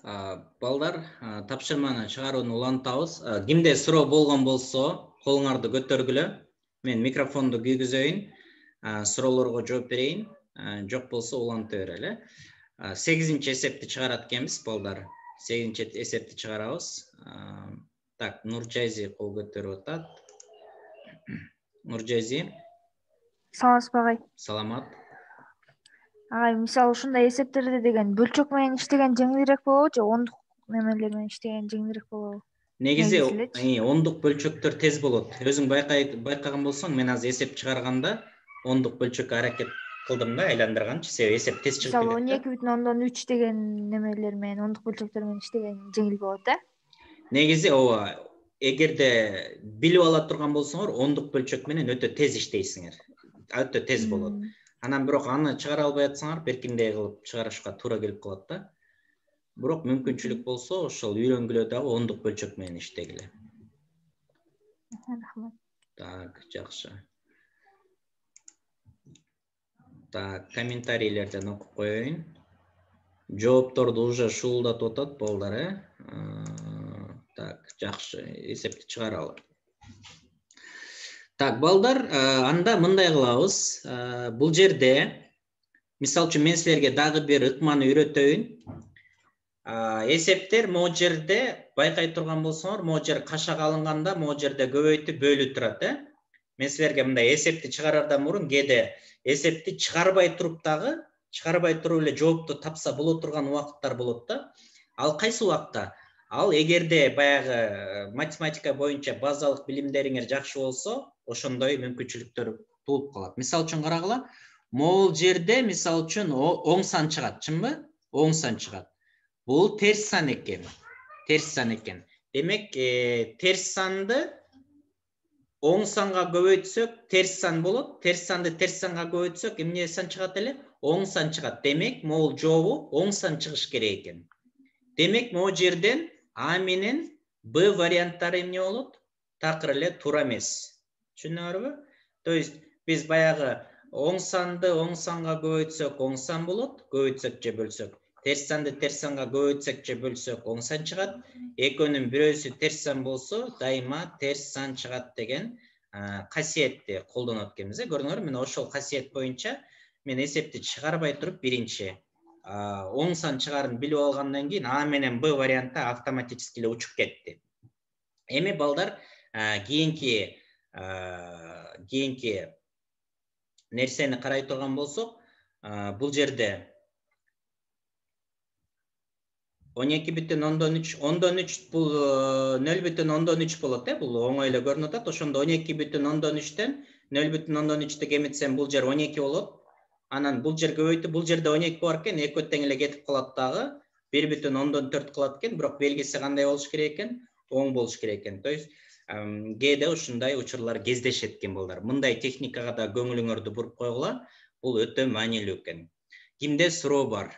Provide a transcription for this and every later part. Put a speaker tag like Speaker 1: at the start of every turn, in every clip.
Speaker 1: Балдар, тапшырманы чыгарууну улантабыз. Кимде суроо болгон болсо, колуңарды көтөргүлө. Мен микрофонду күйгүзөйүн, суроолорго жооп берейин. Жок болсо уланта берели. 8-нчи эсепти чыгарат экенбиз, балдар. 8-нчи эсепти чыгарабыз. Так, Нуржайзи кол көтөрүп атат. Нуржайзи.
Speaker 2: Саламатсызбы агай?
Speaker 1: Саламат.
Speaker 2: Агай, мисалы ушундай эсептерде деген бөлчөк менен иштеген жеңилирээк болобу же ондук немелер менен иштеген жеңилирээк болобу?
Speaker 1: Негизи ондук бөлчөктөр тез болот. Өзүң байкаган болсоң, мен азыр эсеп чыгарганда ондук бөлчөккө аракет кылдым да, айландырганчы, себеби эсеп тез чыгып кетет.
Speaker 2: Мисалы 12,3 деген немелер менен ондук бөлчөктөр менен иштеген жеңил болот да?
Speaker 1: Негизи ооба, эгерде билип ала турган болсоңор, ондук бөлчөк менен өтө тез иштейсиңер. Өтө тез болот. Анан бирок аны чыгара албай атсаңар, беркиндей кылып чыгарышка туура келип калат да. Бирок мүмкүнчүлүк болсо, ошол үйрөнгүлө дагы ондук бөлчөк менен иштегиле.
Speaker 2: Рахмат.
Speaker 1: Так, жакшы. Так, комментарийлерден окуп коеюн. Жоопторду уже шуулдатып атат балдар, Так, жакшы, эсепти чыгаралы. Так, балдар, анда мындай кылабыз. Бул жерде, мисалы үчүн мен силерге дагы бир ыкманы үйрөтөйүн. Эсептер могу жерде байкай турган болсоңор, могу жер кашак алынганда могу жерде көбөйтүп бөлүп турат, Мен силерге мындай эсепти чыгарардан мурун кээде эсепти чыгарбай туруп эле жоопту тапса боло турган убакыттар болот да. Ал кайсы убакта? Ал эгерде баягы математика боюнча базалык билимдериңер жакшы болсо, ошондой мүмкүнчүлүктөр туулуп калат. Мисалы үчүн карагыла, могул жерде мисалы үчүн оң сан чыгат, чынбы? Оң сан чыгат. Бул терс сан экен. Демек, терс санды оң санга көбөйтсөк, терс сан болот. Терс санды терс санга көбөйтсөк, эмне сан чыгат эле? Оң сан чыгат. Демек, могул жообу оң сан чыгыш керек экен. Демек, могу жерден А менен Б варианттары эмне болот? Такыр эле туура эмес. Түшүнүңөрбү? То есть, биз баягы оң санды оң санга көбөйтсөк, оң сан болот, көбөйтсөк же бөлсөк. Терс санды терс санга көбөйтсөк же бөлсөк, оң сан чыгат. Экөөнүн бирөөсү терс сан болсо, дайыма терс сан чыгат деген касиетти колдонот экенбиз. Көрдүңөрбү? Мен ошол касиет боюнча мен эсепти чыгарбай туруп биринчи оң сан чыгарын билип алгандан кийин А менен Б варианты автоматически эле учуп кетти. Эми балдар, кийинки нерсени карай турган болсок, бул жерде 12,3 бул 0,3 болот, бул оңой эле көрүнүп атат. Ошондо 12,3тен 0,3 кеметсем бул жер 12 болот. Анан бул жер көбөйтүп, бул жерде 12 бар экен, экөө тең эле кетип калат дагы. 1,4 кылат экен, бирок белгиси кандай болуш керек экен? Оң болуш керек экен. То есть, кээде ушундай учурлар кездешет экен балдар. Мындай техникага да көңүлүңөрдү буруп койгула. Бул өтө маанилүү экен. Кимде суроо бар?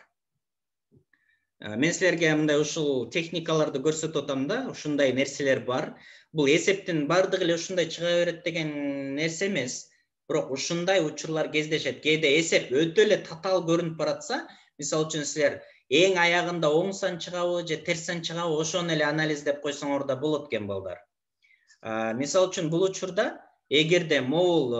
Speaker 1: Мен силерге мындай ушул техникаларды көрсөтүп атам да, ушундай нерселер бар. Бул эсептин бардыгы эле ушундай чыга берет деген нерсе эмес. Бирок ушундай учурлар кездешет. Кээде эсеп өтө эле татаал көрүнүп баратса, мисалы үчүн силер эң аягында оң сан чыгабы же терс сан чыгабы, ошону эле анализдеп койсоңор да болот экен балдар. Мисалы үчүн бул учурда эгерде могул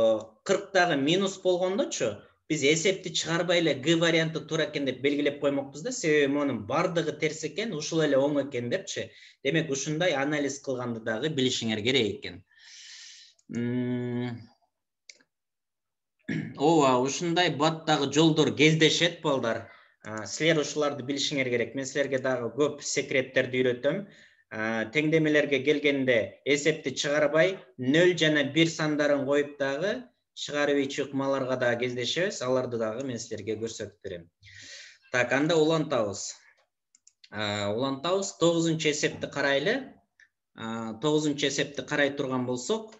Speaker 1: 40дагы минус болгондочу, биз эсепти чыгарбай эле Г варианты туура экен деп белгилеп коймокпуз да, себеби монун бардыгы терс экен, ушул эле оң экен депчи. Демек, ушундай анализ кылганды дагы билишиңер керек экен. Ооба, ушундай баттагы жолдор кездешет балдар. Силер ушуларды билишиңер керек. Мен силерге дагы көп секреттерди үйрөтөм. Теңдемелерге келгенде эсепти чыгарбай 0 жана 1 сандарын коюп дагы чыгарып ийчи ыкмаларга да кездешебиз. Аларды дагы мен силерге көрсөтүп берем. Так, анда улантабыз. 9-чу эсепти карайлы. 9-чу эсепти карай турган болсок,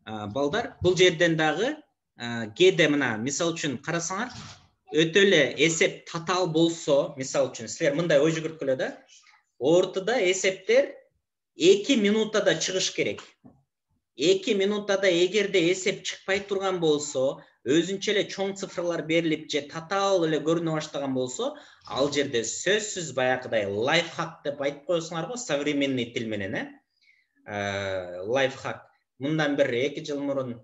Speaker 1: балдар, бул жерден дагы кээде мына мисал үчүн карасаңар, өтө эле эсеп татаал болсо, мисал үчүн силер мындай ой жүгүрткүлө да, ортодо эсептер 2 минутада чыгыш керек. 2 минутада эгерде эсеп чыкпай турган болсо, өзүнчө эле чоң цифрлар берилип же татаал эле көрүнө баштаган болсо, ал жерде сөзсүз баягыдай лайфхак деп айтып коесуңар го, современный тил менен, лайфхак. Мындан бир 2 жыл мурун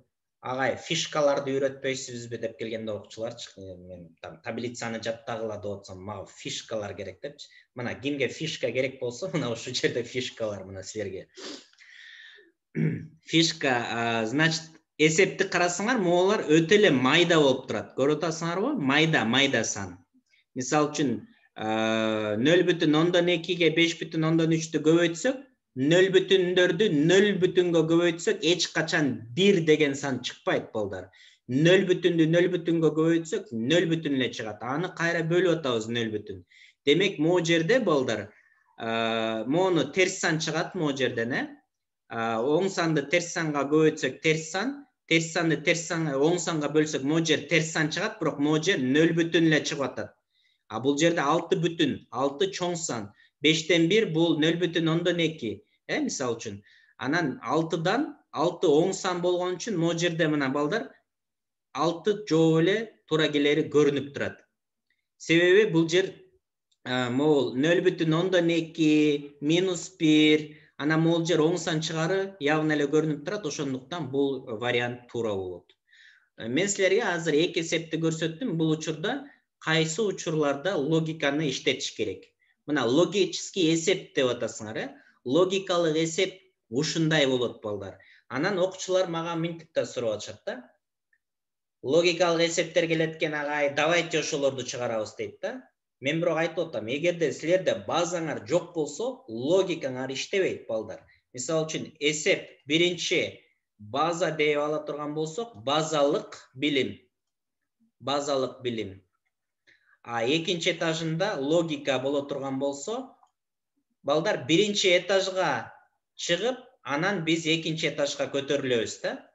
Speaker 1: агай фишкаларды үйрөтпөйсүзбү деп келгенде окуучуларчы, мен таблицаны жаттагыла деп атсам, мага фишкалар керек депчи. Мына кимге фишка керек болсо, мына ушул жерде фишкалар мына силерге. Фишка, значит, эсепти карасаңар, могулар өтө эле майда болуп турат. Көрүп атасыңарбы? Майда сан. Мисалы үчүн 0,2ге 5,3-тү көбөйтсөк, 0,4-дү 0,га көбөйтсөк, эч качан 1 деген сан чыкпайт балдар. 0,0-дү 0,га көбөйтсөк, 0 эле чыгат. Аны кайра бөлүп атабыз 0. Демек, могу жерде балдар, могуну терс сан чыгат могу жерден, оң санды терс санга көбөйтсөк терс сан, терс санды терс санга оң санга бөлсөк могу жер терс сан чыгат, бирок могу жер 0 эле чыгып атат. А бул жерде 6 чоң сан, 5тен 1 бул 0,2, мисалы үчүн. Анан 6дан 6 оң сан болгон үчүн могу жерде мына балдар 6 жооп эле туура келери көрүнүп турат. Себеби бул жер могул 0,2 -1, анан могул жер оң сан чыгары явно эле көрүнүп турат, ошондуктан бул вариант туура болот. Мен силерге азыр 2 эсепти көрсөттүм. Бул учурда кайсы учурларда логиканы иштетиш керек? Мына логический эсеп деп атасыңар, логикалык эсеп ушундай болот балдар. Анан окуучулар мага мынтип да сурап атышат да. Логикалык эсептер келет экен, агай, давайте ошолорду чыгарабыз дейт да. Мен бирок айтып атам, эгерде силерде базаңар жок болсо, логикаңар иштебейт балдар. Мисалы үчүн эсеп биринчи база деп ала турган болсок, базалык билим. А экинчи этажында логика боло турган болсо, балдар биринчи этажга чыгып, анан биз экинчи этажга көтөрүлөбүз да.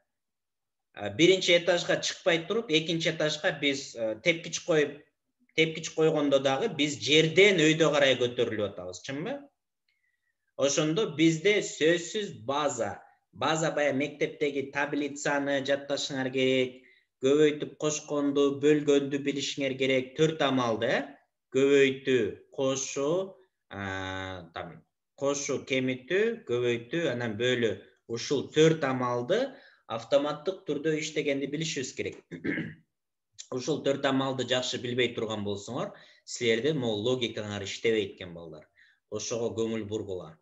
Speaker 1: Биринчи этажга чыкпай туруп, экинчи этажга биз тепкич койгондо дагы биз жерден өйдө карай көтөрүлүп атабыз, чынбы? Ошондо бизде сөзсүз база баягы мектептеги таблицаны жатташыңар керек, көбөйтүп кошконду, бөлгөндү билишиңер керек, 4 амалды, көбөйтүү, кошуу, кемитүү, көбөйтүү, анан бөлүү. Ушул 4 амалды автоматтык түрдө иштегенди билишибиз керек. Ушул 4 амалды жакшы билбей турган болсоңор, силерде могу логикаңар иштебейт экен балдар. Ошого көңүл бургула.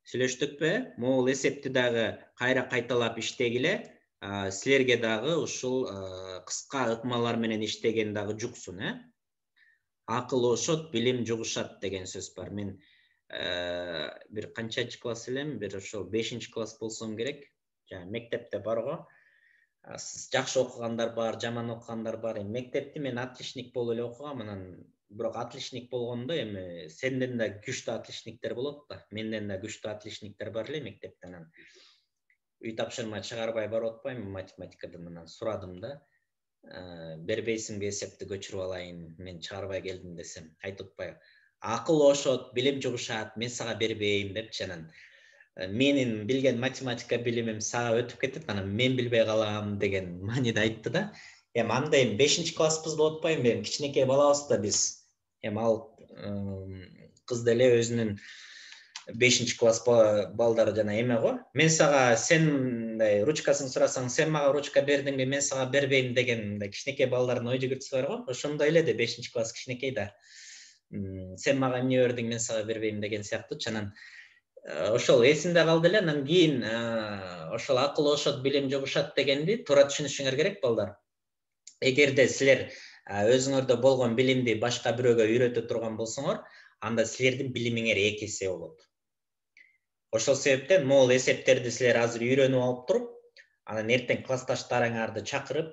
Speaker 1: Сүйлөштүкпү? Могул эсепти дагы кайра кайталап иштегиле. Силерге дагы ушул кыска ыкмалар менен иштеген дагы жуксун, Акыл ошот, билим жугушат деген сөз бар. Мен бир канчанчы класс элем, бир ошол 5-класс болсом керек. Жана мектепте бар го. Жакшы окугандар бар, жаман окугандар бар. Мектепти мен отличник болуп эле окугам, анан бирок отличник болгондо эми сенден да күчтүү отличниктер болот да. Менден да күчтүү отличниктер бар эле мектептен. Анан үй тапшырма чыгарбай барып атпайм математикадан, анан сурадым да. Бербейсиңби эсепти көчүрүп алайын, мен чыгарбай келдим десем, айтып атпайбы. Акыл ошот, билим жугушат, мен сага бербейм депчи. Анан менин билген математика билимим сага өтүп кетет, анан мен билбей калам деген мааниде айтты да. Эми анда 5-класспыз деп атпайм, эми кичинекей балабыз да биз. Эми ал кыз деле өзүнүн 5-класс балдары жана эме го. Мен сага сен ручкасын сурасаң, сен мага ручка бердиңби, мен сага бербейм деген кичинекей балдардын ой жүгүртүсү бар го. Ошондой эле да 5-класс кичинекей да. Сен мага эмне бердиң, мен сага бербейм деген сыяктуу. Анан ошол эсимде калды эле. Анан кийин ошол акыл ошот, билим жугушат дегенди туура түшүнүшүңөр керек балдар. Эгерде силер өзүңөрдө болгон билимди башка бирөөгө үйрөтө турган болсоңор, анда силердин билимиңер 2 эсе болот. Ошол себептен могул эсептерди силер азыр үйрөнүп алып туруп, анан эртең классташтарыңарды чакырып,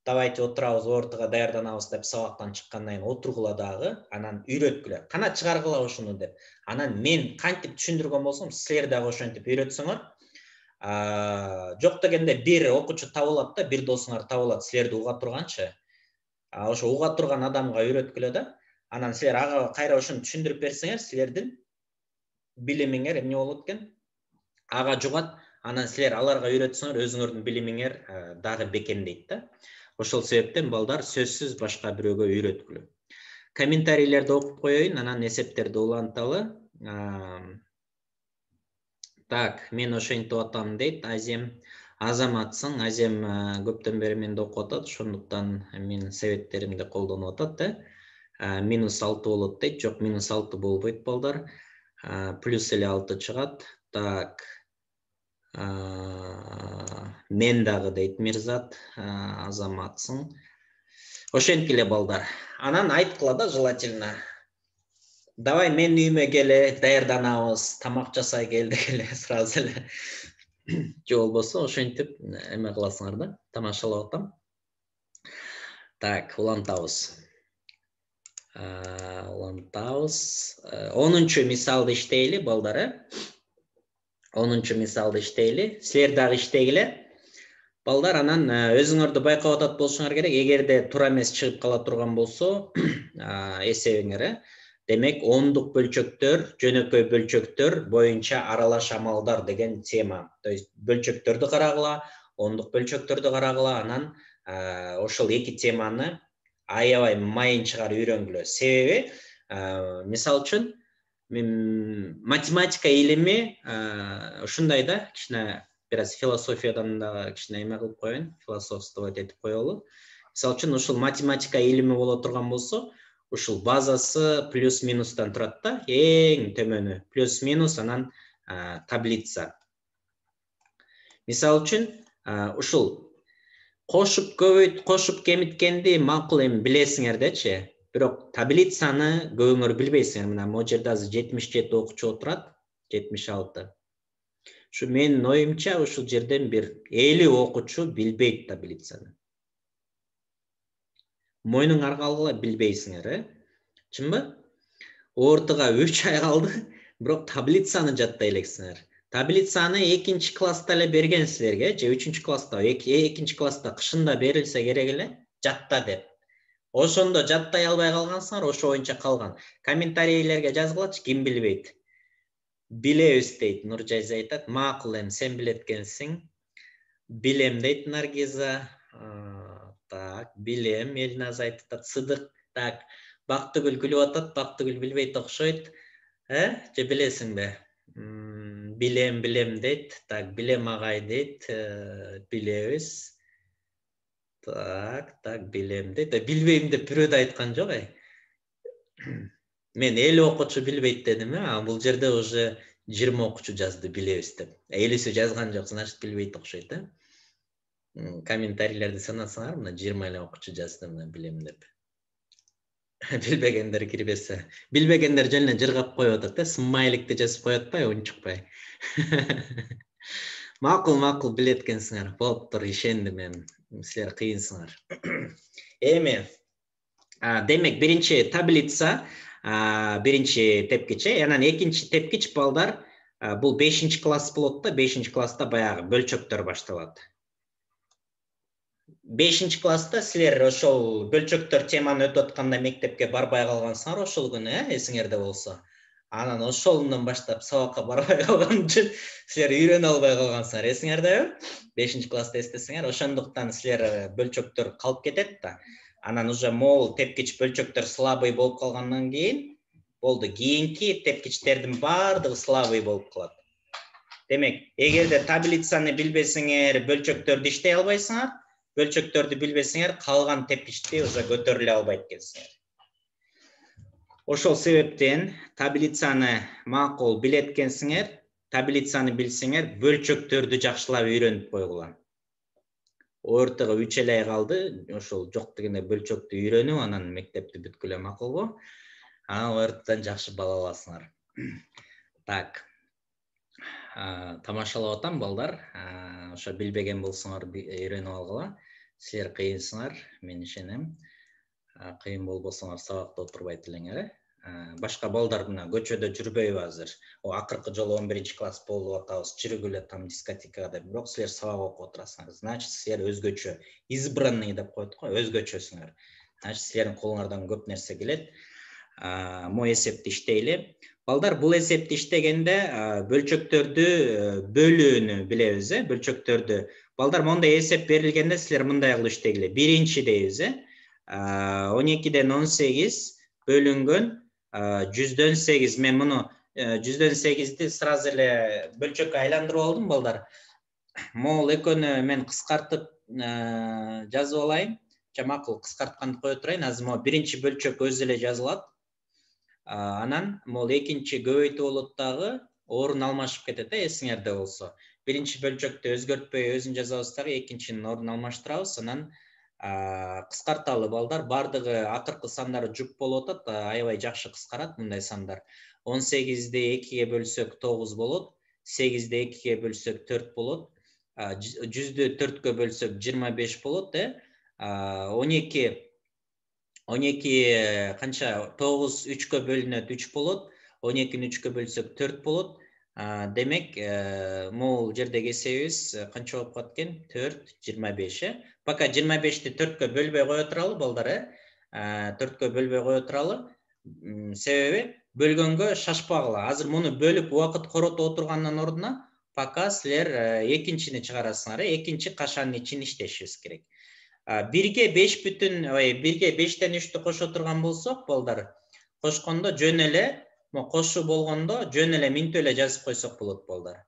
Speaker 1: давайте отурабыз, ортого даярданабыз деп сабактан чыккандан кийин отургула дагы, анан үйрөткүлө. Кана чыгаргыла ушуну деп. Анан мен кантип түшүндүргөн болсом, силер дагы ошентип үйрөтсөңөр, жок дегенде бир окуучу табылат да, бир досуңар табылат, силерди уга турганчы. Ошо уга турган адамга үйрөткүлө да. Анан силер ага кайра ошону түшүндүрүп берсеңер, силердин билимиңер эмне болот экен? Ага жугат. Анан силер аларга үйрөтсөңөр өзүңөрдүн билимиңер дагы бекемдейт да. Ошол себептен балдар сөзсүз башка бирөөгө үйрөткүлө. Комментарийлерди окуп коеюн, анан эсептерди уланталы. Так, мен ошентип атам дейт Азем. Азаматсың, Азем көптөн бери менде окуп атат, ошондуктан менин себептеримди колдонуп атат, -6 болот дейт. Жок, -6 болбойт балдар. Плюс эле 6 чыгат. Так. Мен дагы дейт Мирзат, Азаматсың. Ошенткиле балдар. Анан айткыла да желательно. Давай мен үйүмө келе, даярданабыз, тамак жасай кел дегеле сразу эле. Же болбосо ошентип эме кыласыңар да, тамашалап атам. Так, улантабыз. 10-чу мисалды иштейли балдар, 10-чу мисалды иштейли. Силер дагы иштегиле. Балдар, анан өзүңөрдү байкап атат болушуңар керек. Эгерде туура эмес чыгып кала турган болсо, эсебиңер, демек, ондук бөлчөктөр, жөнөкөй бөлчөктөр боюнча аралаш амалдар деген тема. То есть бөлчөктөрдү карагыла, ондук бөлчөктөрдү карагыла, анан ошол эки теманы аябай майынчыгар үйрөнгүлө. Себеби, мисалы үчүн, математика илими ушундай да, кичине бираз философиядан да кичине эме кылып коеюн, философствовать этип коелу. Мисалы үчүн, ушул математика илими боло турган болсо, ушул базасы плюс-минустан турат да, эң төмөнү плюс-минус, анан таблица. Мисалы үчүн, ушул кошуп көбөйт, кошуп кемиткенди макул эми билесиңер дечи. Бирок таблицаны көбүңөр билбейсиңер. Мына могу жерде азыр 77 окуучу отурат, 76. Ушу менин оюмча ушул жерден бир 50 окуучу билбейт таблицаны. Мойнуңар калгыла билбейсиңер, чынбы? Ортага 3 ай калды, бирок таблицаны жаттай элексиңер. Таблицаны 2-нчи класста эле берген силерге, же 3-нчү класста, 2-нчи класста кышында берилсе керек эле, жатта деп. Ошондо жаттай албай калгансыңар, ошо боюнча калган. Комментарийлерге жазгылачы, ким билбейт? Билебиз дейт, Нуржайза айтат. Макул эми, сен билет экенсиң. Билем дейт Наргиза. Так, билем, Элназ айтат. Сыдык, так. Бактыгүл күлүп атат, Бактыгүл билбейт окшойт. Же билесиңби? Билем дейт. Так, билем агай дейт. Билебиз. Так, билем дейт. Билбейм деп бирөө да айткан жок, Мен 50 окуучу билбейт дедим, бул жерде уже 20 окуучу жазды билебиз деп. 50сү жазган жок, значит билбейт окшойт, Комментарийлерди санасаңар, мына 20 эле окуучу жазды, мына билем деп. Билбегендер кирбесе. Билбегендер жөн эле жыргап коюп атат, смайликти жазып коюп атпайбы, унчукпай. Макул билет экенсиңер. Болуптур, ишендим мен. Силер кыйынсыңар. Эми, демек биринчи таблица, биринчи тепкич, анан экинчи тепкич балдар, бул 5-нчи класс болот да, 5-нчи класста баягы бөлчөктөр башталат. 5-нчи класста силер ошол бөлчөктөр теманы өтүп атканда мектепке барбай калгансыңар ошол күнү, эсиңерде болсо. Анан ошолундан баштап сабакка барбай калган үчүн силер үйрөнө албай калгансыңар, эсиңердеби? 5-нчи класста эстесиңер, ошондуктан силер бөлчөктөр калып кетет да. Анан уже мол тепкич бөлчөктөр слабый болуп калгандан кийин болду, кийинки тепкичтердин баардыгы слабый болуп калат. Демек, эгерде таблицаны билбесиңер, бөлчөктөрдү иштей албайсыңар, бөлчөктөрдү билбесиңер, калган тепкичти уже көтөрүлө албайт экенсиңер. Ошол себептен таблицаны макул билет экенсиңер, таблицаны билсеңер, бөлчөктөрдү жакшылап үйрөнүп койгула. Ортого 3 эле ай калды, ошол жок дегенде бөлчөктү үйрөнүп, анан мектепти бүткүлө макулбу? Анан ортодон жакшы бала аласыңар. Так. Тамашалап атам балдар. Ошо билбеген болсоңор үйрөнүп алгыла. Силер кыйынсыңар, мен ишенем. Кыйын болбосоңор сабакта отурбайт элеңер. Башка балдар мына көчөдө жүрбөйбү азыр. Акыркы жолу 11-нчи класс болуп атабыз, жүргүлө там дискотекага деп. Бирок силер сабак окуп отурасыңар. Значит, силер өзгөчө, избранный деп коет го, өзгөчөсүңөр. Значит, силердин колуңардан көп нерсе келет. Мо эсепти иштейли. Балдар, бул эсепти иштегенде бөлчөктөрдү бөлүүнү билебиз, бөлчөктөрдү. Балдар, мондай эсеп берилгенде силер мындай кылып иштегиле. Биринчи дейбиз, 12ден 18 бөлүнгөн 100дөн 8. Мен муну 100дөн 8ди сразу эле бөлчөккө айландырып алдым, балдар. Могул экөөнү мен кыскартып жазып алайын. Макул, кыскартканды кое турайын. Азыр могу биринчи бөлчөк өзү эле жазылат. Анан могул экинчи көбөйтүү болот дагы, орун алмашып кетет, эсиңерде болсо. Биринчи бөлчөктү өзгөртпөй өзүн жазабыз дагы, экинчинин ордун алмаштырабыз. Анан кыскарталы, балдар. Бардыгы акыркы сандары жуп болуп атат, аябай жакшы кыскарат мындай сандар. 18ди 2ге бөлсөк 9 болот, 8ди 2ге бөлсөк 4 болот, 100дү 4кө бөлсөк 25 болот, 12 канча 9 3кө бөлүнөт 3 болот, 12-ни 3кө бөлсөк 4 болот. Демек, могул жердеги эсебибиз канча болуп калат экен? 4 25. Пока 25-ти 4кө бөлбөй кое туралы, балдар, 4кө бөлбөй кое туралы. Себеби бөлгөнгө шашпагыла. Азыр муну бөлүп убакыт коротуп отургандын ордуна пока силер экинчини чыгарасыңар, экинчи кашанын ичин иштешибиз керек. 1ге 5тен 3тү кошо турган болсок, балдар, кошкондо жөн эле, кошуу болгондо жөн эле минтип эле жазып койсок болот, балдар.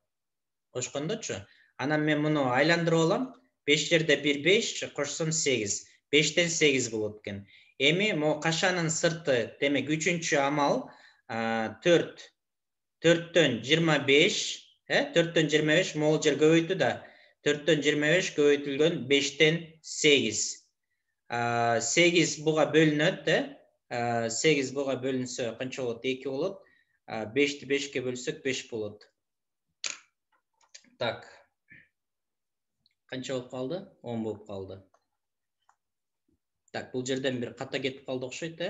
Speaker 1: Кошкондочу. Анан мен муну айландырып алам. 5 жерде 1 5, кошсом 8. 5тен 8 болот экен. Эми могу кашанын сырты, демек 3-чү амал 4төн 25, 4төн 25 могул жер көбөйтүү да. 4төн 25 көбөйтүлгөн 5тен 8. 8 буга бөлүнөт, 8 буга бөлүнсө канча болот? 2 болот. 5ти 5ке бөлсөк 5 болот. Так. Канча болуп калды? 10 болуп калды. Так, бул жерден бир ката кетип калды окшойт,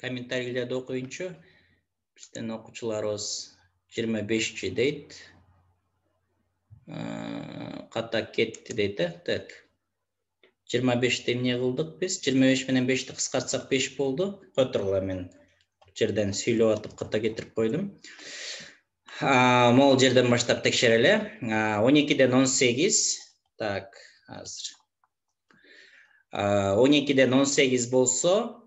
Speaker 1: комментарийлерди окуйунчу. Биздин окуучуларыбыз 25-чи дейт. Ката кетти дейт, так. 25ти эмне кылдык биз? 25 менен 5ти кыскартсак 5 болду. Кой тургула, мен жерден сүйлөп атып ката кетирип койдум. Могул жерден баштап текшерели. 12ден 18. Так, азыр. 12ден 18 болсо,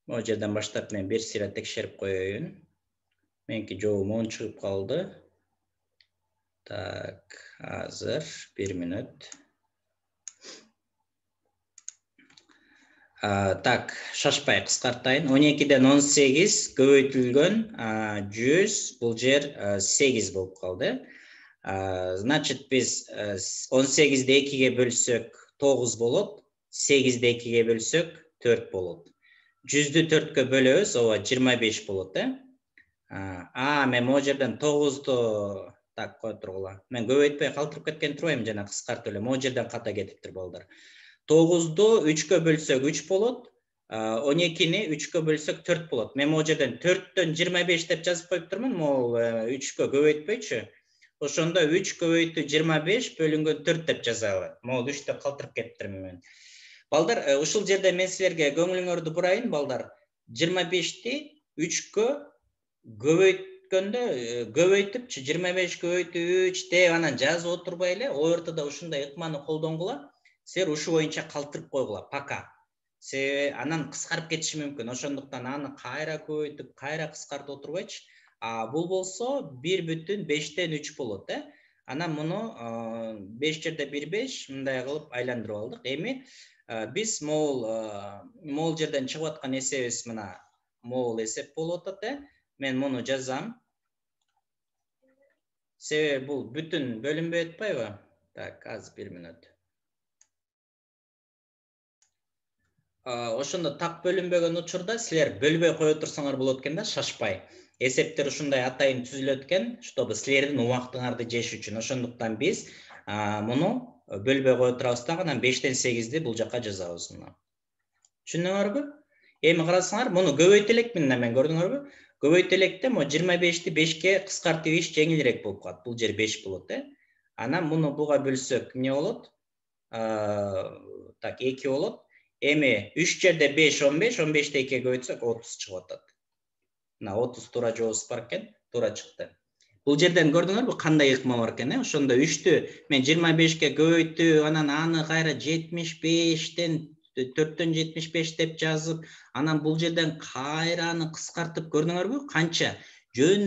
Speaker 1: могул жерден баштап мен бир сыйра текшерип коеюн. Меники жообум 10 чыгып калды. Так, азыр 1 мүнөт. Так, шашпай кыскартайын. 12ден 18 көбөйтүлгөн 100, бул жер 8 болуп калды. Значит, биз 18ди 2ге бөлсөк 9 болот, 8ди 2ге бөлсөк 4 болот. 100дү 4кө бөлөбүз, ооба 25 болот, мен могу жерден 9ду так кой тургула. Мен көбөйтпөй калтырып кеткен турбайм, жана кыскартып эле. Могу жерден ката кетиптир, балдар. 9ду 3кө бөлсөк 3 болот, 12-ни 3кө бөлсөк 4 болот. Мен могу жерден 4төн 25 деп жазып коюптурмун, могул 3кө көбөйтпөйчү. Ошондо 3 көбөйтүү 25 бөлүнгөн 4 деп жазалы. Могул 3тө калтырып кетиптирмин мен. Балдар, ушул жерде мен силерге көңүлүңөрдү бурайын, балдар. 25ти 3кө көбөйтүпчү 25 көбөйтүү 3 деп анан жазып отурбай эле, ОРТда ушундай ыкманы колдонгула. Силер ушу боюнча калтырып койгула, пока. Себеби анан кыскарып кетиши мүмкүн. Ошондуктан аны кайра көбөйтүп, кайра кыскартып отурбайчы. Бул болсо 1,5тен 3 болот, Анан муну 5 жерде 1 5 мындай кылып айландырып алдык. Эми биз могул жерден чыгып аткан эсебибиз мына могул эсеп болуп атат, Мен муну жазам. Себеби бул бүтүн бөлүнбөй атпайбы? Так, азыр 1 мүнөт. Ошондо так бөлүнбөгөн учурда силер бөлбөй кое турсаңар болот экен да, шашпай. Эсептер ушундай атайын түзүлөт экен, чтобы силердин убактыңарды жеш үчүн. Ошондуктан биз муну бөлбөй кое турабыз дагы, анан 5тен 8ди бул жака жазабыз мына. Түшүндүңөрбү? Эми карасаңар, муну көбөйтө элекмин да мен, көрдүңөрбү? Көбөйтө электе 25ти 5ке кыскартып иш жеңилирээк болуп калат. Бул жер 5 болот, Анан муну буга бөлсөк эмне болот? Так, 2 болот. Эми 3 жерде 5 15, 15ти 2ге көбөйтсөк 30 чыгып атат. мына 30 туура жообубуз бар экен, туура чыкты. Бул жерден көрдүңөрбү кандай ыкма бар экен, ошондо 3тү мен 25ке көбөйтүп, анан аны кайра 75тен 4төн 75 деп жазып, анан бул жерден кайра аны кыскартып көрдүңөрбү? Канча жөн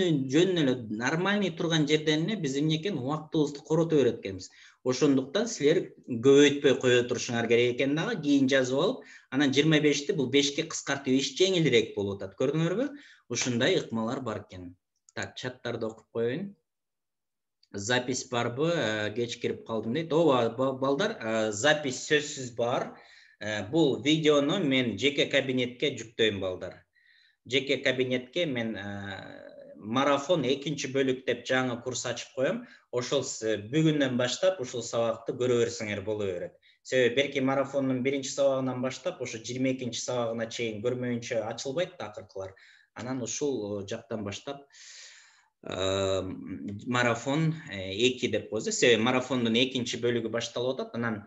Speaker 1: эле нормальный турган жерден эле биз эмне экен убактыбызды корото берет экенбиз. Ошондуктан силер көбөйтпөй кое турушуңар керек экен дагы, кийин жазып алып, анан 25ти бул 5ке кыскартып иш жеңилирээк болуп атат. Көрдүңөрбү? Ушундай ыкмалар бар экен. Так, чаттарды окуп коеюн. Запись барбы? Кеч кирип калдым дейт. Ооба, балдар, запись сөзсүз бар. Бул видеону мен жеке кабинетке жүктөйм, балдар. Жеке кабинетке мен марафон 2 бөлүк деп жаңы курс ачып коем. Ошол бүгүндөн баштап ушул сабакты көрө берсеңер боло берет. Себеби берки марафондун 1 сабагынан баштап ошо 22 сабагына чейин көрмөйүнчө ачылбайт да акыркылар. Анан ушул жактан баштап марафон 2 деп коебуз. Себеби марафондун 2 бөлүгү башталып атат. Анан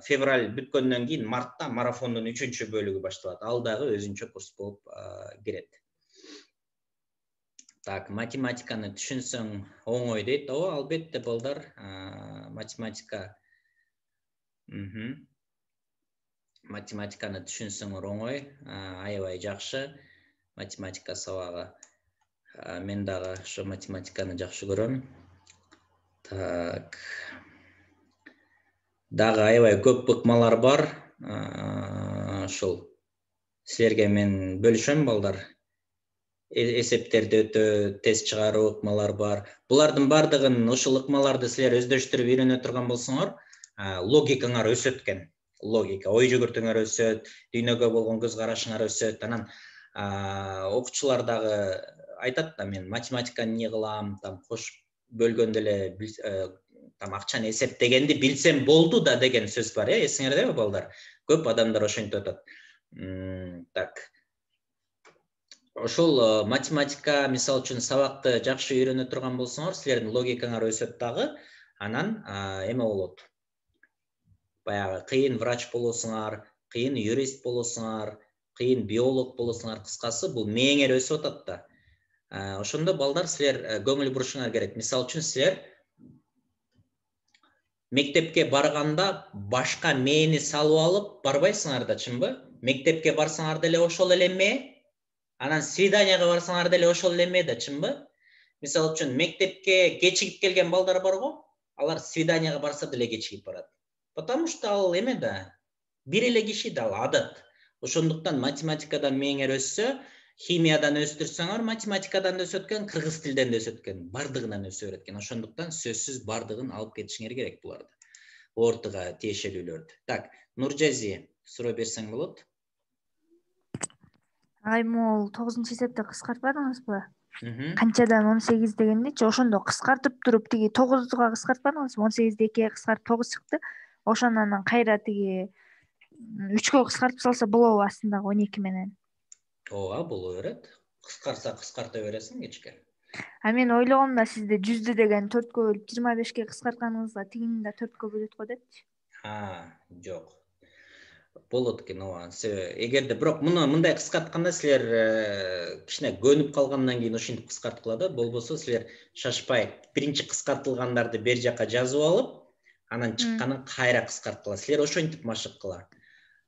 Speaker 1: февраль бүткөндөн кийин мартта марафондун 3 бөлүгү башталат. Ал дагы өзүнчө курс болуп кирет. Так, математиканы түшүнсөң оңой дейт. Ооба, албетте балдар, математика. Математиканы түшүнсөңөр оңой, аябай жакшы. Математика сабагы. Мен дагы ошо математиканы жакшы көрөм. Так. Дагы аябай көп ыкмалар бар. Ошол силерге мен бөлүшөм, балдар. Эсептерди өтө тест чыгаруу ыкмалар бар. Булардын бардыгын ошол ыкмаларды силер өздөштүрүп үйрөнө турган болсоңор, логикаңар өсөт экен. Логика, ой жүгүртүңөр өсөт, дүйнөгө болгон көз карашыңар өсөт. Анан окуучулар дагы айтат да, мен математиканы эмне кылам, там кошуп бөлгөндө эле там акчаны эсептегенди билсем болду да деген сөз бар, эсиңердеби, балдар? Көп адамдар ошентип атат. Так. Ошол математика, мисалы үчүн сабакты жакшы үйрөнө турган болсоңор, силердин логикаңар өсөт дагы. Анан эме болот. Баягы кыйын врач болосуңар, кыйын юрист болосуңар, кыйын биолог болосуңар, кыскасы бул мээңер өсүп атат да. Ошондо балдар силер көңүл бурушуңар керек. Мисалы үчүн силер мектепке барганда башка мээни салып алып барбайсыңар да, чынбы? Мектепке барсаңар деле ошол эле мээ, анан свиданияга барсаңар деле ошол эле мээ да, чынбы? Мисалы үчүн мектепке кечигип келген балдар бар го, алар свиданияга барса деле кечигип барат. Потому что ал эме да, бир эле киши да, ал адат. Ошондуктан математикадан мээңер өссө, химиядан өстүрсөңөр, математикадан да өсөт экен, кыргыз тилден да өсөт экен, бардыгынан өсө берет экен. Ошондуктан сөзсүз бардыгын алып кетишиңер керек буларды. Ортага тиешелүүлөрдү. Так, Нуржази, суроо берсең болот.
Speaker 2: Могул 9-эсепти кыскартпадыңызбы? Канчадан 18 дегендичи, ошондо кыскартып туруп тиги 9га кыскартпадыңызбы? 18ди 2ге кыскартып 9 чыкты. Ошону анан кайра тиги 3кө кыскартып салса болобу астындагы 12 менен?
Speaker 1: Ооба, боло берет. Кыскарса кыскарта бересиң кечке.
Speaker 2: Мен ойлогом да сизде 100дү деген 4кө бөлүп 25ке кыскартканыңызда тигини да 4кө бөлөт го депчи.
Speaker 1: Жок. Болот экен, ооба. Эгерде бирок муну мындай кыскартканда силер кичине көнүп калгандан кийин ошентип кыскарткыла да, болбосо силер шашпай биринчи кыскартылгандарды бер жака жазып алып, анан чыкканын кайра кыскарткыла. Силер ошентип машык кыла.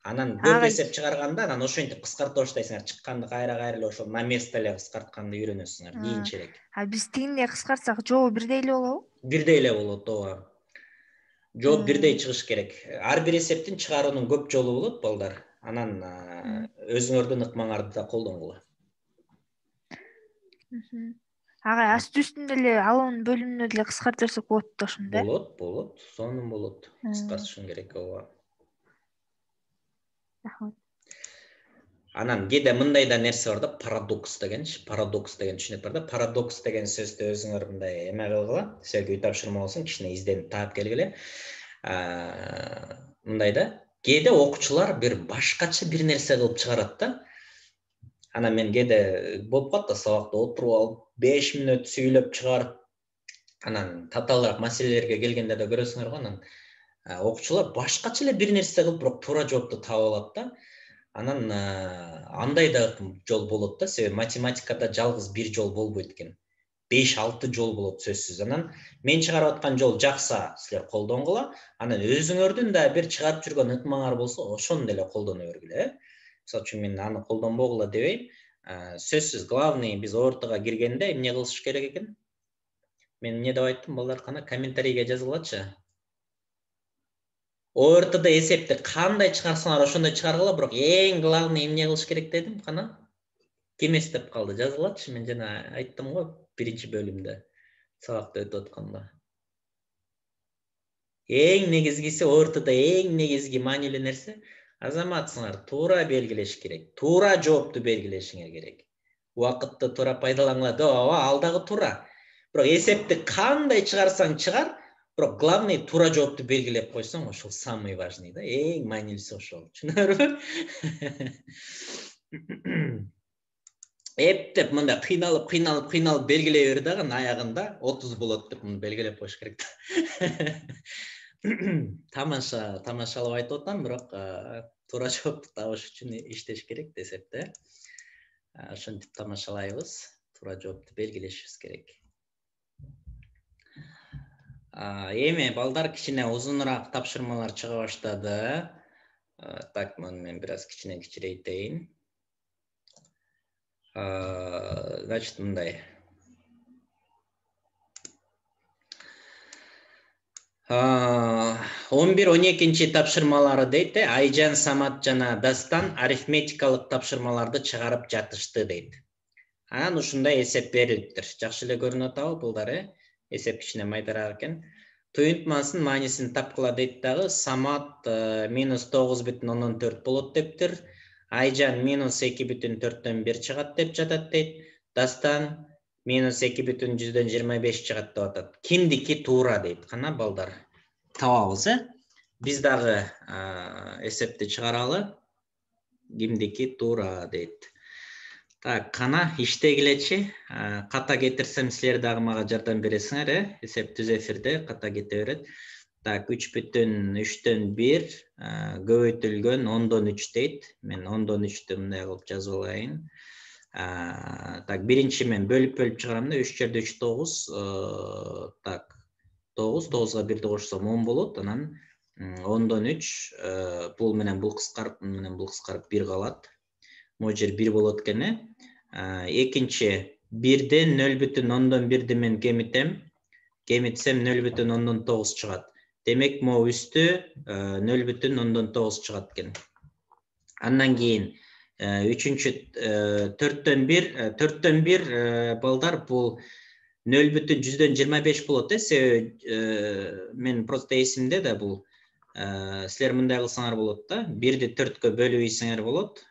Speaker 1: Анан көп эсеп чыгарганда анан ошентип кыскарта баштайсыңар, чыкканды кайра эле ошол на место эле кыскартканды үйрөнөсүңөр кийинчерээк.
Speaker 2: Биз тигиндей кыскартсак жообу бирдей эле болобу?
Speaker 1: Бирдей эле болот, ооба. Жооп бирдей чыгыш керек. Ар бир эсептин чыгаруунун көп жолу болот, балдар. Анан өзүңөрдүн ыкмаңарды да колдонгула.
Speaker 2: Агай асты үстүндө эле алын бөлүмүнө деле кыскарта берсек болот да ошондо.
Speaker 1: Болот, сонун болот. Кыскартышың керек, ооба.
Speaker 2: Рахмат.
Speaker 1: Анан кээде мындай да нерсе бар да, парадокс дегенчи. Парадокс деген түшүнүк бар да. Парадокс деген сөздү өзүңөр мындай эме кылгыла. Силерге үй тапшырма болсун, кичине изденип таап келгиле. Мындай да, кээде окуучулар бир башкача бир нерсе кылып чыгарат да. Анан мен кээде болуп калат да, сабакта отуруп алып 5 мүнөт сүйлөп чыгарып, анан татаалыраак маселелерге келгенде да көрөсүңөр го, анан окуучулар башкача эле бир нерсе кылып, бирок туура жоопту таап алат да. Анан андай да жол болот да, себеби математикада жалгыз бир жол болбойт экен. 5-6 жол болот сөзсүз. Анан мен чыгарып аткан жол жакса, силер колдонгула. Анан өзүңөрдүн да бир чыгарып жүргөн ыкмаңар болсо, ошону деле колдоно бергиле. Мисалы үчүн мен аны колдонбогула дебейм. Сөзсүз, главный биз ортого киргенде эмне кылыш керек экен? Мен эмне деп айттым, балдар, кана комментарийге жазгылачы. ОРТда эсепти кандай чыгарсаңар ошондой чыгаргыла, бирок эң главный эмне кылыш керек дедим, кана? Ким эстеп калды? Жазгылачы, мен жана айттым го биринчи бөлүмдө, сабакты өтүп атканда. Эң негизгиси, ОРТда эң негизги маанилүү нерсе, азаматсыңар туура белгилеш керек. Туура жоопту белгилешиңер керек. Убакытты туура пайдалангыла. Ооба, ал дагы туура. Бирок эсепти кандай чыгарсаң чыгар, бирок главный туура жоопту белгилеп койсоң, ошол самый важный да. Эң маанилүүсү ошол. Түшүнөбүрбү? Эптеп мында кыйналып белгилей бер дагы, аягында 30 болот деп муну белгилеп коюш керек да. Тамашалап айтып атам, бирок туура жоопту табыш үчүн иштеш керек десеп да. Ошентип тамашалайбыз, туура жоопту белгилешибиз керек. Эми балдар, кичине узунураак тапшырмалар чыга баштады. Так, мен бир аз кичине кичирейтейин. Значит, мындай. 11-12 тапшырмалары дейт, Айжан, Самат жана Дастан арифметикалык тапшырмаларды чыгарып жатышты дейт. Анан ушундай эсеп берилиптир. Жакшы эле көрүнүп атабы балдар, эсеп кичине майдараак экен. Туюнтмасынын маанисин тапкыла дейт дагы. Самат -9,4 болот дептир. Айжан -2,4 чыгат деп жатат дейт. Дастан -2,25 чыгат деп атат. Кимдики туура дейт. Кана балдар, табабыз, Биз дагы эсепти чыгаралы. Кимдики туура дейт. Так, кана иштегилечи. Ката кетирсем силер дагы мага жардам бересиңер, эсеп түз эфирде ката кете берет. Так, 3,3/1 көбөйтүлгөн 10/3 дейт. Мен 10/3 мындай кылып жазып алайын. Так, биринчи мен бөлүп чыгарам да, 3 жерде 3 9. Так, 9га 1 кошсом 10 болот. Анан 10/3 бул менен бул кыскарып, менен бул кыскарып 1 калат. Могу жер 1 болот экен. Экинчи 1ден 0,1 мен кемитем. Кемитсем 0,9 чыгат. Демек, могу үстү 0,9 чыгат экен. Андан кийин үчүнчү 4дөн 1 балдар, бул 0,125 болот, себеби мен просто эсимде да бул. Силер мындай кылсаңар болот да, 1ди 4кө бөлүп ийсеңер болот.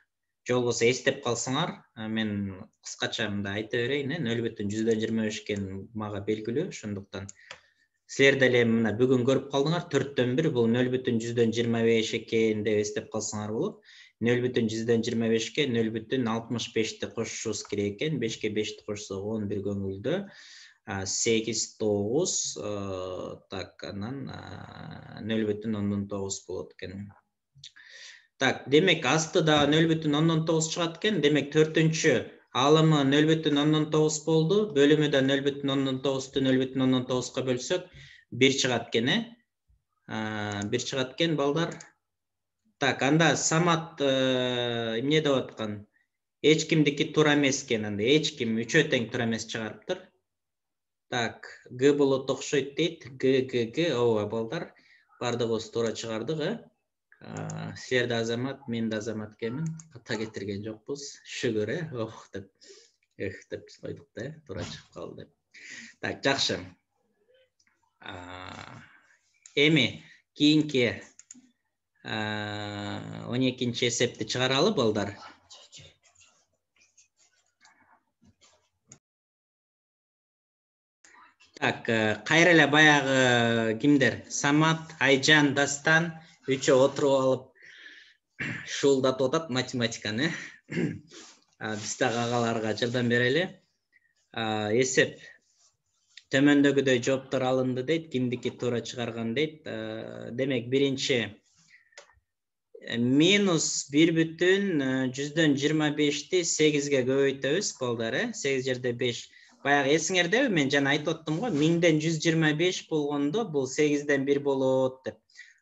Speaker 1: Же болбосо эстеп калсаңар, мен кыскача мындай айта берейин, 0,125 экен мага белгилүү, ошондуктан силер деле мына бүгүн көрүп калдыңар, 4дөн 1 бул 0,125 экен деп эстеп калсаңар болот. 0,125ке 0,65ти кошушубуз керек экен. 5ке 5ти кошсок 11 көңүлдө. 8 9, так, анан 0,9 болот экен. Так, демек астыда 0,9 чыгат экен. Демек 4-үнчү алымы 0,9 болду. Бөлүмү да 0,9'ту 0,9га бөлсөк 1 чыгат экен, 1 чыгат экен балдар. Так, анда Самат эмне деп аткан? Эч кимдики туура эмес экен, анда эч ким үчөө тең туура эмес чыгарыптыр. Так, Г болот окшойт дейт. Г, ооба балдар, бардыгыбыз туура чыгардык, Силер да азамат, мен да азамат экенмин. Ката кетирген жокпуз. Шүгүр, деп койдук да, туура чыгып калды деп. Так, жакшы. Эми кийинки 12-нчи эсепти чыгаралы балдар. Так, кайра эле баягы кимдер? Самат, Айжан, Дастан үчөө отуруп алып шуулдатып атат математиканы. Биз дагы агаларга жардам берели. Эсеп төмөндөгүдөй жооптор алынды дейт, кимдики туура чыгарган дейт. Демек, биринчи минус 1,25'ti 8'ge көбөйтөбүз балдар, 8 жерде 5. Баягы эсиңердеби, мен жана айтып аттым го, 1000ден 125 болгондо бул 8ден 1 болот деп.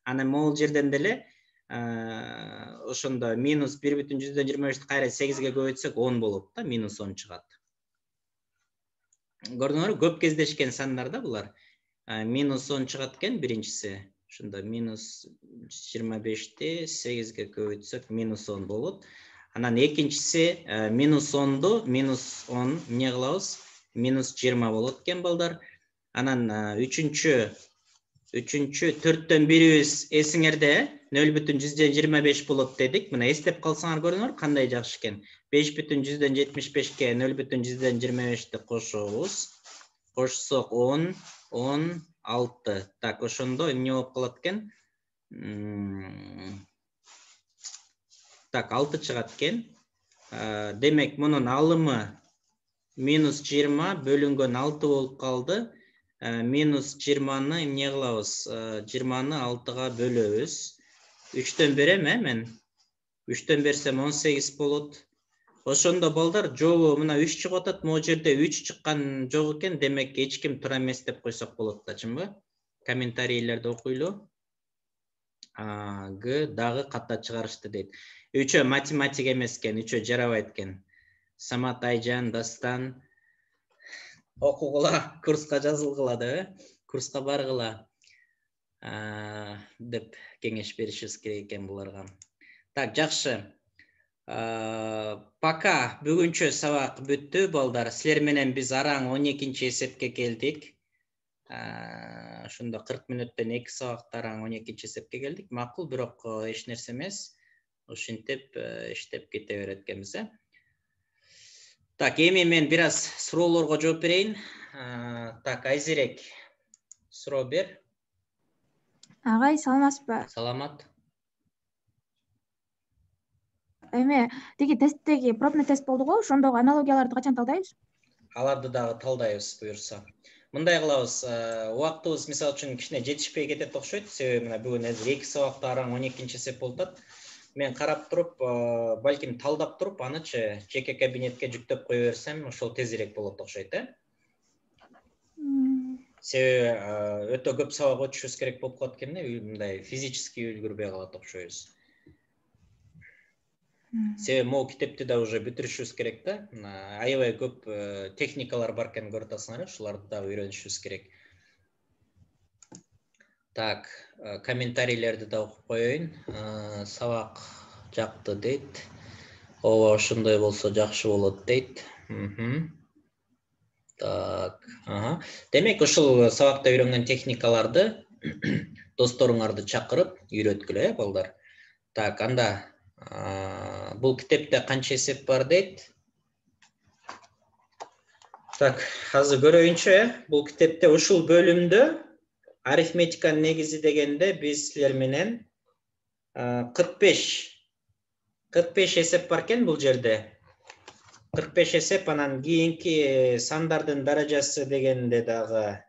Speaker 1: Анан могул жерден деле ошондо минус 1,125'ти кайра 8'ge көбөйтсөк 10 болот да, минус 10 чыгат. Көрдүңөрбү, көп кездешкен сандар да булар. Минус 10 чыгат экен биринчиси. Ошондо минус 25'ти 8'ge көбөйтсөк минус 10 болот. Анан экинчиси минус 10'ду минус 10 эмне кылабыз? Минус 20 болот экен балдар. Анан үчүнчү 4төн бирибиз эсиңерде 0,125 болот дедик. Мына эстеп калсаңар көрүңөр кандай жакшы экен. 5,175'ке 0,125'ти кошобуз. Кошсок 10, 10, 6. Так, ошондо эмне болуп калат экен? Так, 6 чыгат экен. Демек, мунун алымы минус 20 бөлүнгөн 6 болуп калды. Минус 20-ны эмне кылабыз? 20-ны 6-га бөлөбүз. 3төн берем, мен. 3төн берсем 18 болот. Ошондо балдар, жобо мына 3 чыгып атат, могу жерде 3 чыккан жок экен, демек эч ким тура эмес деп койсок болот да, чынбы? Комментарийлерди окуйлу. Г дагы ката чыгарышты дейт. 3 математик эмес экен, 3 жарабайт экен. Самат, Айжан, Дастан окугула, курска жазылгыла деп, курска баргыла деп кеңеш беришибиз керек экен буларга. Так, жакшы. Пока бүгүнчө сабак бүттү балдар. Силер менен биз араң 12-чи эсепке келдик. Ошондо 40 мүнөттөн 2 сабакта араң 12-чи эсепке келдик. Макул, бирок эч нерсе эмес. Ошентип иштеп кете берет экенбиз, Так, эми мен бир аз суроолорго жооп берейин. Так, Айзерек, суроо бер.
Speaker 3: Агай, саламатсызбы?
Speaker 1: Саламат.
Speaker 3: Эми тиги тесттеги пробный тест болду го, ошондогу аналогияларды качан талдайбыз?
Speaker 1: Аларды дагы талдайбыз буюрса. Мындай кылабыз, убактыбыз мисалы үчүн кичине жетишпей кетет окшойт. Себеби мына бүгүн 2 сабакта араң 12-чи эсеп болуп атат. Мен карап туруп, балким талдап туруп, анычы жеке кабинетке жүктөп кое берсем, ошол тезирээк болот окшойт, Себеби өтө көп сабак өтүшүбүз керек болуп калат экен, мындай физически үлгүрбөй калат окшойбуз. Себеби могу китепти да уже бүтүрүшүбүз керек да. Аябай көп техникалар бар экен көрүп атасыңар, ушуларды да үйрөнүшүбүз керек. Так, комментарийлерди да окуп коеюн. Сабак жакты дейт. Ооба, ошондой болсо жакшы болот дейт. Так, демек ушул сабакта үйрөнгөн техникаларды досторуңарды чакырып үйрөткүлө, балдар. Так, анда бул китепте канча эсеп бар дейт? Так, азыр көрөйүнчү, бул китепте ушул бөлүмдө арифметиканын негизи дегенде биз силер менен 45 эсеп бар экен бул жерде. 45 эсеп, анан кийинки сандардын даражасы дегенде дагы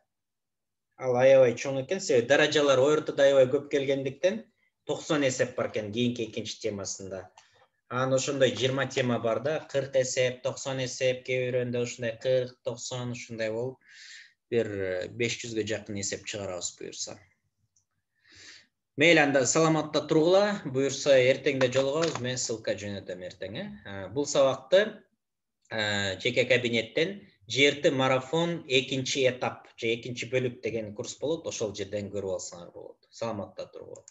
Speaker 1: ал аябай чоң экен. Себеби даражалар ортодо аябай көп келгендиктен 90 эсеп бар экен кийинки экинчи темасында. Анан ошондой 20 тема бар да, 40 эсеп, 90 эсеп, кээ бирөөндө ошондой 40, 90 ушундай болуп, бир 500ге жакын эсеп чыгарабыз буюрса. Мейли, анда саламатта тургула, буюрса эртеңде жолугабыз, мен ссылка жөнөтөм эртең. Бул сабакты жеке кабинеттен JRT марафон 2-этап же 2 бөлүк деген курс болот, ошол жерден көрүп алсаңар болот. Саламатта тургула.